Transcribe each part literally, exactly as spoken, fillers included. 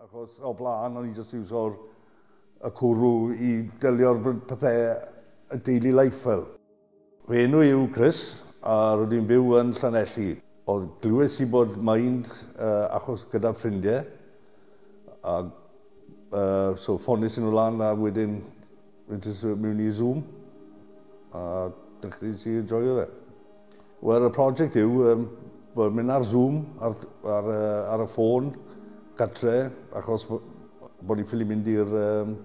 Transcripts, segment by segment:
Achos o blaen, o'n i jyst iwso'r y cwrw i delio'r pethau y daily life fel. Fy enw yw Chris, a rydyn i'n byw yn Llanelli. Oedd glywes i bod Mind uh, achos gyda ffrindiau, a uh, so ffones i nhw lan a wedyn rydys mewn i Zoom, a dechreuais i enjoyo fe. Wel, y prosiect yw, um, bod mynd ar Zoom, ar, ar, ar y ffôn, gatre, achos bod ni'n ffili mynd i'r um,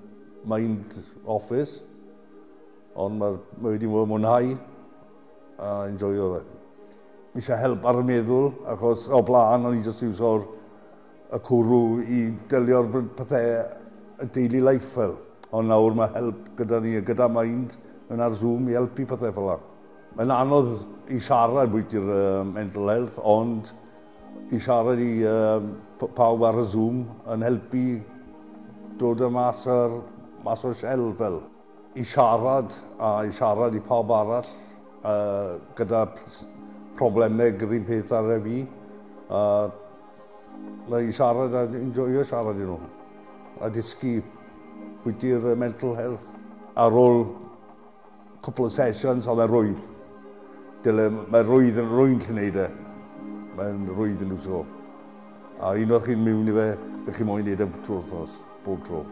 Mind Office, ond mae, mae wedi mwynhau a enjoyo fe. Mi eisiau help ar y meddwl, achos o blaen o'n i jyst iwso'r y cwrw i delio'r pethau y daily life fel. Ond nawr mae help gyda ni, gyda Mind, yn ar Zoom i helpu pethau fel 'na. Mae'n anodd i siarad bwyti'r uh, mental health, ond i siarad i uh, pawb ar y Zoom yn helpu dod y mas, ar, mas o'r shell fel. I siarad a i siarad i pawb arall uh, gyda problemau yr un peth ar y fi. Uh, i siarad a enjoyo siarad i nhw. A dysgu bwyti'r mental health. Ar ôl cwpl o sessions, oedd e rwydd. Dyle, mae rwydd yn rwy'n lle wneud e. Mae'n rwydd yn so. A unwaith chi'n mewn i fe, bych chi'n moyn wneud e trwy'r wythnos, bob tro.